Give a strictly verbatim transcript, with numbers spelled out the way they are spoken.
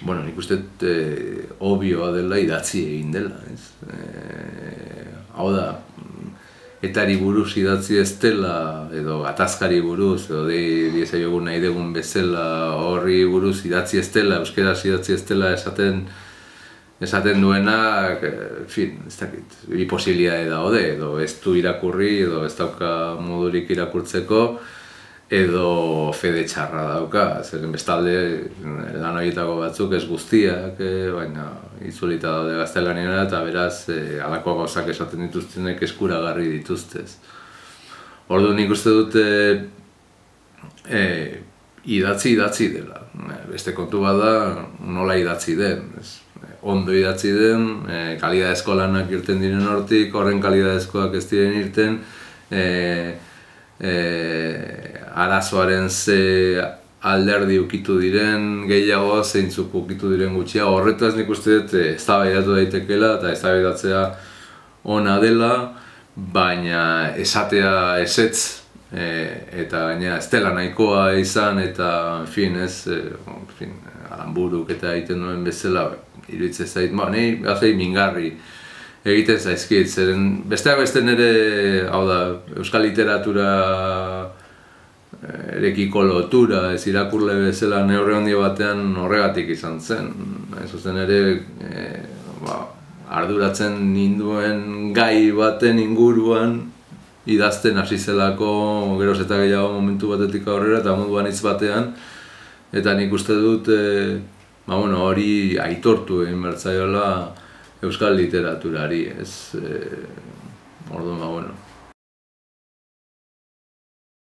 bueno, nik uste eh, obioa dela idatzi egin dela, ez? Eh, hau da, etari buruz idatzi ez dela, edo gatazkari buruz, edo diezaiogun nahi dugun bezala horri buruz idatzi ez dela, euskeraz idatzi ez dela esaten esaten duenak, en fin, ez dakit, bi posibilitate daude, edo ez du irakurri, edo ez dauka modurik irakurtzeko, edo fede txarra dauka, zeren bestalde lan horietako batzuk ez guztiak, eh, baina itzulita daude gaztelaniera eta beraz eh, halako gauzak esaten dituztenek eskuragarri dituztez. Orduan nik uste dute eh, idatzi idatzi dela, beste kontu bada nola idatzi den, ez? Ondo idatzi den, eh, kalidadezko lanak irten diren hortik, horren kalidadezkoak ez diren irten, eh, eh, arazoaren ze alderdi ukitu diren gehiago, zeintzuk ukitu diren gutxia, horretaz nik uste dut eztabaidatu daitekeela eta eztabaidatzea ona dela, baina esatea ezetz e, eta gaina ez dela nahikoa izan eta, en fin, ez, e, en fin, Aranburuk eta egiten duen bezala, iruditzen zait, ba, nahi gazai mingarri egiten zaizkit, zeren besteak beste nire, hau da, euskal literatura erekiko lotura, ez irakurle bezala neurri handi batean horregatik izan zen. Ez zuzen ere, e, ba, arduratzen ninduen gai baten inguruan idazten hasi zelako geroz eta gehiago momentu batetik aurrera eta munduan hitz batean, eta nik uste dut e, ba, bueno, hori aitortu egin behar zaiola euskal literaturari, ez? E, orduan, ba, bueno,